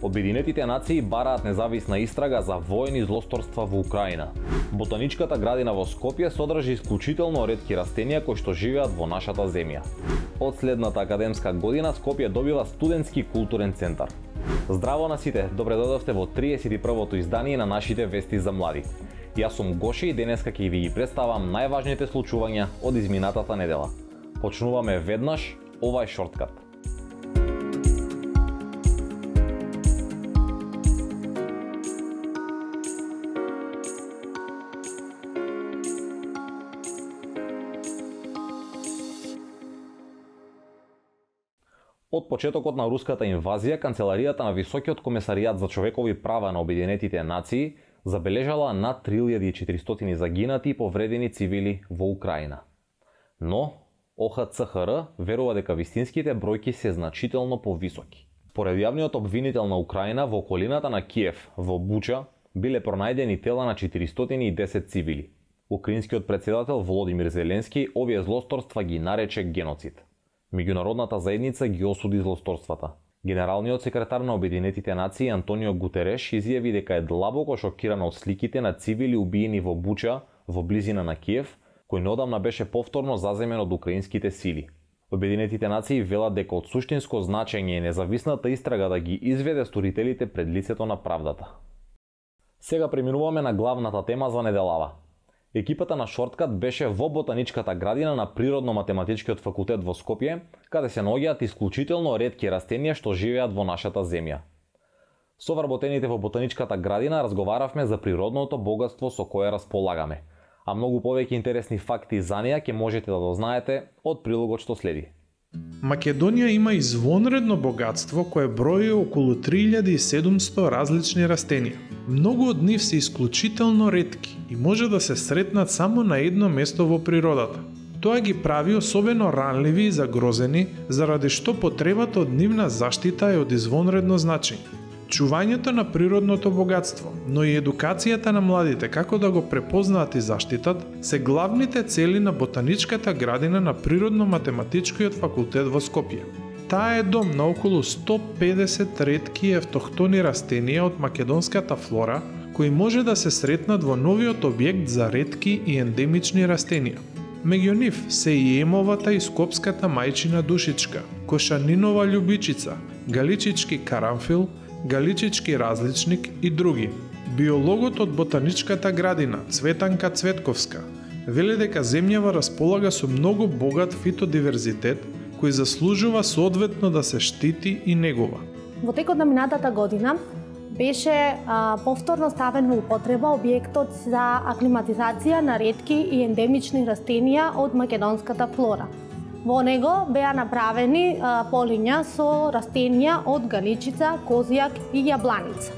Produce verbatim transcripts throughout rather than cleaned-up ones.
Обединетите нации бараат независна истрага за воени злосторства во Украина. Ботаничката градина во Скопје содржи исклучително ретки растенија кои што живеат во нашата земја. Од следната академска година Скопје добива студентски културен центар. Здраво на сите, добре дојдовте во триесет и првото издание на нашите вести за млади. Јас сум Гоше и денеска ќе ви ги представам најважните случувања од изминатата недела. Почнуваме веднаш, ова е шорткат. Од почетокот на руската инвазија, канцеларијата на Високиот комесаријат за човекови права на Обединетите нации забележала над три илјади и четиристотини загинати и повредени цивили во Украина. Но О Х Ц Х Р верува дека вистинските бројки се значително повисоки. Поред јавниот обвинител на Украина, во околината на Киев, во Буча, биле пронајдени тела на четиристотини и десет цивили. Украинскиот председател Володимир Зеленски овие злосторства ги нарече геноцид. Меѓународната заедница ги осуди злосторствата. Генералниот секретар на Обединетите нации Антонио Гутереш изјави дека е длабоко шокиран од сликите на цивили убиени во Буча, во близина на Киев, кој неодамна беше повторно заземен од украинските сили. Обединетите нации велат дека од суштинско значење е независната истрага да ги изведе сторителите пред лицето на правдата. Сега преминуваме на главната тема за неделава. Екипата на Шорткат беше во ботаничката градина на Природно-математичкиот факултет во Скопје, каде се наоѓаат исклучително ретки растенија што живеат во нашата земја. Со вработените во ботаничката градина разговаравме за природното богатство со кое располагаме, а многу повеќе интересни факти за неа ќе можете да дознаете од прилогот што следи. Македонија има извонредно богатство кое брои околу три илјади и седумсто различни растенија. Многу од нив се исклучително ретки и може да се сретнат само на едно место во природата. Тоа ги прави особено ранливи и загрозени, заради што потребата од нивна заштита е од извонредно значење. Чувањето на природното богатство, но и едукацијата на младите како да го препознаат и заштитат, се главните цели на ботаничката градина на Природно-математичкиот факултет во Скопје. Таа е дом на околу сто педесет ретки и автохтони растенија од македонската флора, кои може да се сретнат во новиот објект за ретки и ендемични растенија. Меѓу нив се и емовата и скопската мајчина душичка, кошанинова љубичица, галичички карамфил, галичички различник и други. Биологот од ботаничката градина, Цветанка Цветковска, вели дека земјава располага со многу богат фитодиверзитет, кој заслужува соодветно да се штити и негува. Во текот на минатата година беше а, повторно ставен во употреба објектот за аклиматизација на ретки и ендемични растенија од македонската флора. Во него беа направени а, полиња со растенија од галичица, козијак и јабланица.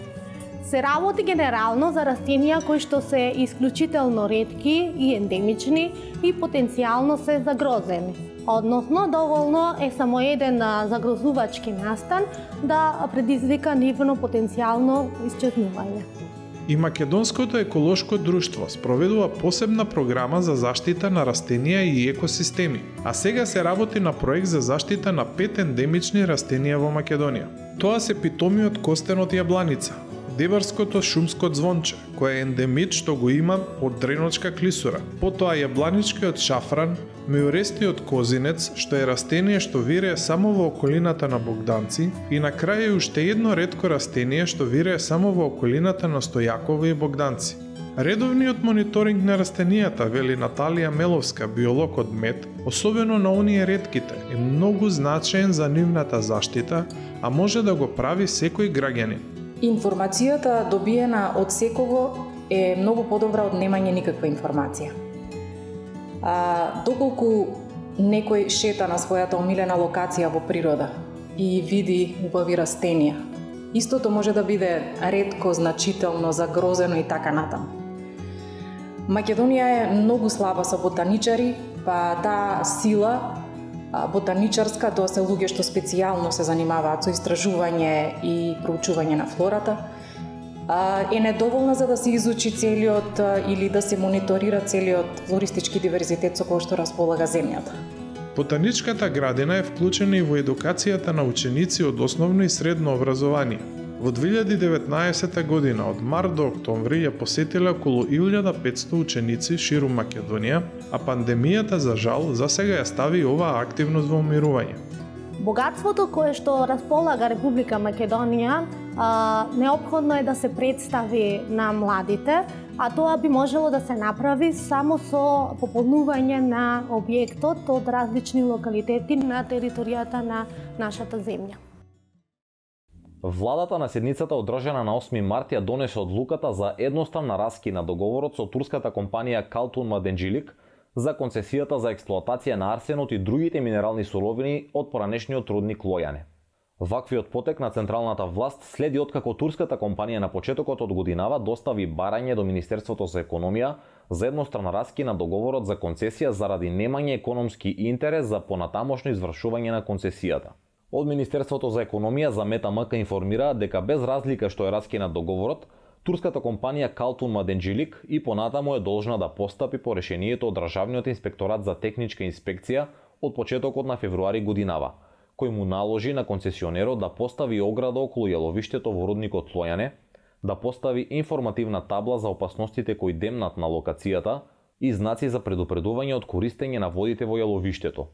Се работи генерално за растенија кои што се исклучително ретки и ендемични и потенцијално се загрозени. Односно, доволно е само еден загрозувачки настан да предизвика нивно потенцијално исчезнување. И Македонското еколошко друштво спроведува посебна програма за заштита на растенија и екосистеми, а сега се работи на проект за заштита на пет ендемични растенија во Македонија. Тоа се питомиот костен од јабланица, дебарското шумско звонче, кој е ендемит што го има од дреночка клисура, потоа јабланичкиот шафран, меурестиот козинец, што е растение што вирее само во околината на Богданци, и на крај е уште едно ретко растение што вирее само во околината на Стојаково и Богданци. Редовниот мониторинг на растенијата, вели Наталија Меловска, биолог од МЕД, особено на оние ретките, е многу значаен за нивната заштита, а може да го прави секој граѓанин. Информацијата добиена од секого е многу подобра од немање никаква информација. А, доколку некој шета на својата омилена локација во природа и види убави растенија, истото може да биде ретко, значително, загрозено и така натаму. Македонија е многу слаба со ботаничари, па таа сила ботаничарска, тоа се луѓе што специјално се занимаваат со истражување и проучување на флората, е недоволна за да се изучи целиот или да се мониторира целиот флористички диверзитет со кој што располага земјата. Ботаничката градина е вклучена и во едукацијата на ученици од основно и средно образование. Во две илјади и деветнаесетта година од март до октомври ја посетиле околу илјада и петсто ученици ширум Македонија, а пандемијата за жал за сега ја стави оваа активност во умирување. Богатството кое што располага Република Македонија а, неопходно е да се представи на младите, а тоа би можело да се направи само со пополнување на објектот од различни локалитети на територијата на нашата земја. Владата на седницата одржана на осми март ја донесе одлуката за едноставна раскид на договорот со турската компанија Kaltun Madencilik за концесијата за експлоатација на арсенот и другите минерални суровини од поранешниот рудник Лојане. Ваквиот потек на централната власт следи откако турската компанија на почетокот од годинава достави барање до Министерството за економија за едностран раскид на договорот за концесија заради немање економски интерес за понатамошно извршување на концесијата. Од Министерството за економија за Мета МК информира дека без разлика што е раскинат договорот, турската компанија Kaltun Madencilik и понатаму е должна да постапи по решението од Државниот инспекторат за техничка инспекција од почетокот на февруари годинава, кој му наложи на концесионерот да постави ограда околу јаловиштето во рудникот Лојане, да постави информативна табла за опасностите кои демнат на локацијата и знаци за предупредување од користење на водите во јаловиштето.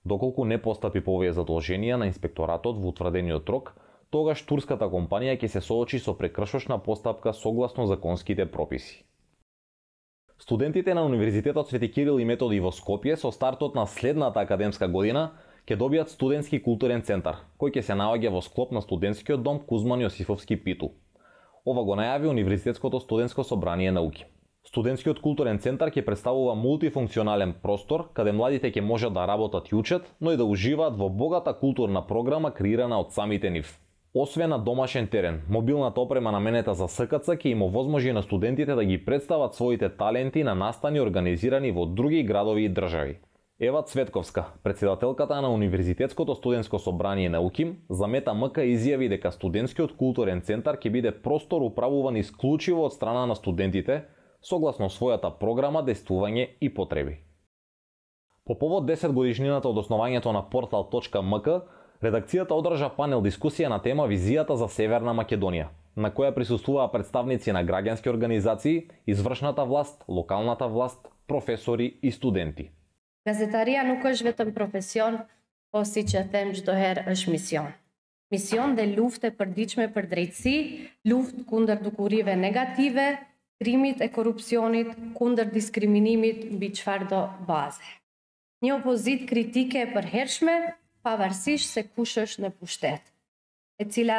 Доколку не постапи по овие задолженија на инспекторатот во утврдениот рок, тогаш турската компанија ќе се соочи со прекршочна постапка согласно законските прописи. Студентите на Универзитетот Свети Кирил и Методи во Скопје со стартот на следната академска година ќе добијат студентски културен центар, кој ќе се наоѓа во склоп на студентскиот дом Кузман Јосифовски Питу. Ова го најави Универзитетското студентско собрание науки. Студентскиот културен центар ќе представува мултифункционален простор каде младите ќе можат да работат и учат, но и да уживаат во богата културна програма креирана од самите нив. Освен на домашен терен, мобилната опрема наменета за СКЦ ќе им овозможи на студентите да ги представат своите таленти на настани организирани во други градови и држави. Ева Цветковска, председателката на Универзитетското студентско собрание науки, за Мета МК изјави дека студентскиот културен центар ќе биде простор управуван исклучиво од страна на студентите, согласно својата програма, действување и потреби. По повод десет годишнината од основањето на портал точка ем ка, редакцијата одржа панел дискусија на тема Визијата за Северна Македонија, на која присуствуваа представници на граѓански организации, извршната власт, локалната власт, професори и студенти. Газетарија nuk është vetëm profesion, po si që them çdo herë është mision. Mision dhe luftë e përditshme për drejtësi, luftë kundër dukurive negative, krimit e korrupsionit, kundër diskriminimit mbi çfarëdo baze. Një opozit kritike e përhershme, pavarësisht se kush është në pushtet, e cila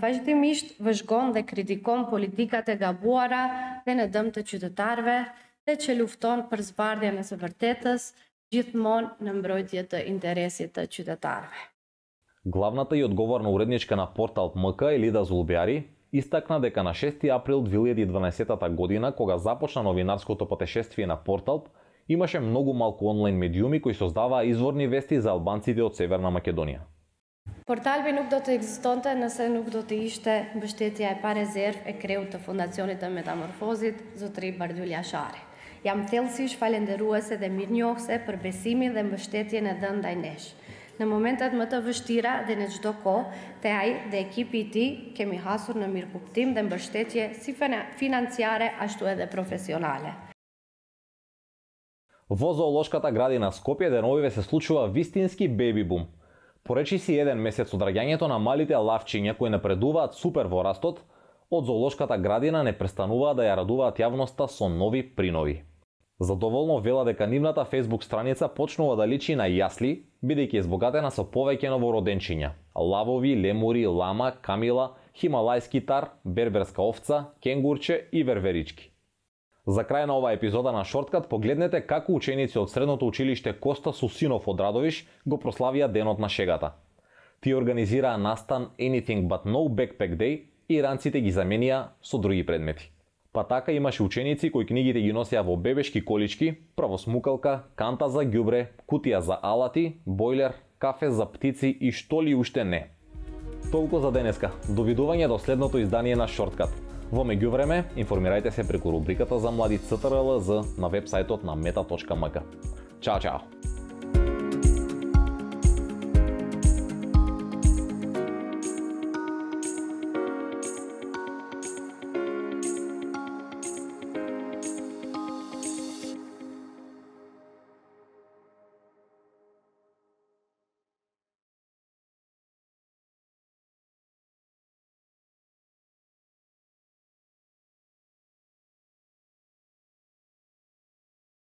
vazhdimisht vëzhgon dhe kritikon politikat e gabuara dhe në dëm të qytetarëve, dhe që lufton për zbardhjen e së vërtetës, gjithmonë në mbrojtje të interesit të qytetarëve. Главната и одговорна уредничка на портал ем ка Елида Зулбјари истакна дека на шести април две илјади и дванаесетта година, кога започна новинарското патешествие на портал, имаше многу малку онлайн медиуми кои создаваа изворни вести за албанците од Северна Македонија. Portalbi nuk do të ekzistonte nëse nuk do të ishte mbështetja e parezerv e kreut të Fundacionit të Metamorfozit, zotëri Bardhyl Jashari. Jam thellësisht falenderuese dhe mirënjohëse për besimin dhe mbështetjen e dhënë ndaj nesh. Në momentet më të vështira dhe në çdo kohë, te ai dhe ekipi i tij kemi hasur në mirëkuptim dhe mbështetje si financiare ashtu edhe profesionale. Во зоолошката градина Скопје деновиве се случува вистински беби бум. Поречи си еден месец од раѓањето на малите лавчиња кои напредуваат супер во растот, од зоолошката градина не престануваат да ја радуваат јавноста со нови принови. Задоволно вела дека нивната Facebook страница почнува да личи на јасли, бидејќи е збогатена со повеќе новороденчиња: лавови, лемури, лама, камила, хималајски тар, берберска овца, кенгурче и верверички. За крај на оваа епизода на Шорткат погледнете како ученици од средното училиште Коста Сусинов од Радовиш го прославија денот на шегата. Тие организираа настан Anything But No Backpack Day и ранците ги заменија со други предмети. Па така имаше ученици кои книгите ги носеа во бебешки колички, правосмукалка, канта за ѓубре, кутија за алати, бойлер, кафе за птици и што ли уште не. Толку за денеска. Довидување до следното издание на Шорткат. Во меѓувреме, информирајте се преку рубриката за млади Ц Т Р Л З на вебсајтот на мета точка ем ка. Чао, чао!